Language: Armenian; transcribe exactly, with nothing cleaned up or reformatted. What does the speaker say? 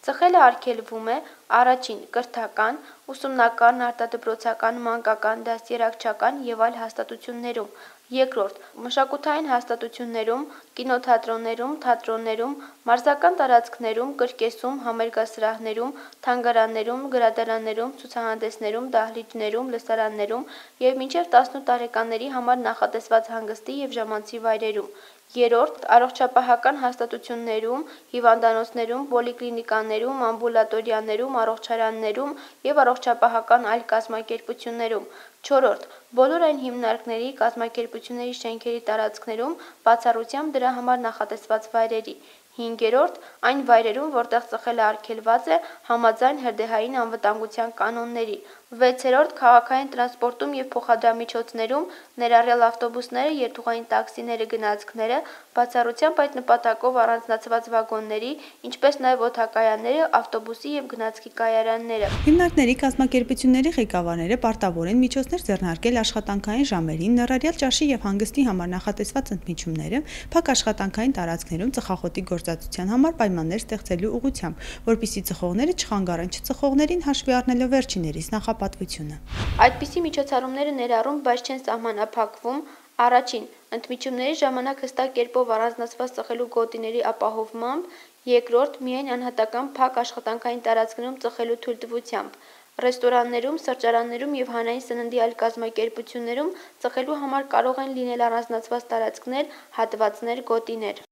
Ծխելը արգելվում է առաջին կրթական, ուսումնական, արտադրոցական, մանկական, դաստիարակչական և այլ հաստատություններում, երկրորդ մշակութային հաստատություններում, կինոթատրոններում, թատրոններում, մարզական տարածքներում, կրկեսում, համերգասրահներում, թանգարաններում, գրադարաններում, ցուցահանդեսներում, դահլիճներում, լսարաններում և մինչև տասնութ տարեկանների համար նախատեսված հանգստի և ժամանցի վայրերում, երրորդ առողջապահական հաստատություններում, հիվանդանոցներում, պոլիկլինիկաներում, ամբուլատորիաներում, առողջարաններում և առողջապահական այլ կազմակերպություններում, չորրորդ բոլոր այն հիմնարկների, կազմակերպությունների շենքերի տարածքներում, բացառությամբ դրա համար նախատեսված վայրերի, հինգերորդ այն վայրերում, որտեղ ծխելը արգելված է համաձայն հրդեհային անվտանգության կանոնների, վեցերորդ քաղաքային տրանսպորտում և փոխադրամիջոցներում, ներառյալ ավտոբուսները, երթուղային տաքսիները, գնացքները, բացառությամբ այդ նպատակով առանձնացված վագոնների, ինչպես նաև օդակայանները, ավտոբուսի և գնացքի կայարանները։ Հիմնարկների, կազմակերպությունների ղեկավարները պարտավոր են միջոցներ ձեռնարկել աշխատանքային ժամերին, ներառյալ ճաշի և հանգստի համար նախատեսված ընդմիջումները, փակ աշխատանքային տարածքներում ծխախոտի գործածության համար պայմաններ ստեղծելու ուղղությամբ, որպեսզի ծխողները չխանգարեն չծխողներին՝ հաշվի առնելով վերջիններիս նախապատվությունը։ Այդպիսի միջոցառումները ներառում, բայց չեն սահմանափակվում. առաջին ընդմիջումների ժամանակ հստակ կերպով առանձնացված ծխելու գոտիների ապահովմամբ, երկրորդ միայն անհատական փակ աշխատանքային տարածքներում ծխելու թույլտվությամբ, ռեստորաններում, սրճարաններում և հանրային սննդի այլ կազմակերպություններում ծխելու համար կարող են լինել առանձնացված տարածքներ, հատվածներ, գոտիներ։